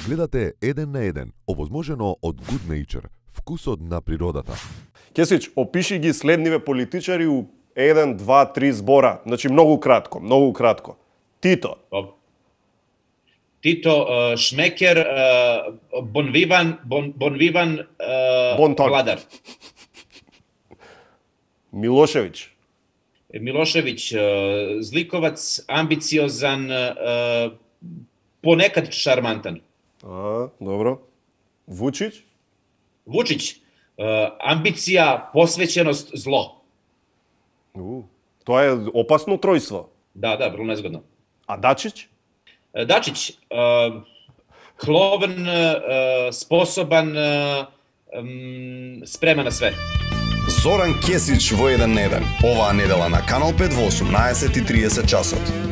Гледате 1 на 1, овозможено од Good Nature, вкусот на природата. Кесич, опиши ги следниве политичари у 1, 2, 3 збора. Значи многу кратко, многу кратко. Тито. Тито, Шмекер, Бонвиван, Бонтон. Владар. Милошевиќ. Милошевиќ, зликовац, амбициозан, понекад шармантан. Добро. Вучиќ? Вучиќ, амбиција, посвеќеност, зло. Тоа е опасно тројство. Да, vrlo nezgodno. А Дачиć? Dačić, kloven, sposoban, spreman na sve. Зоран Кесич во 1 на 1. Оваа недела на Канал 5 во 18:30 часот.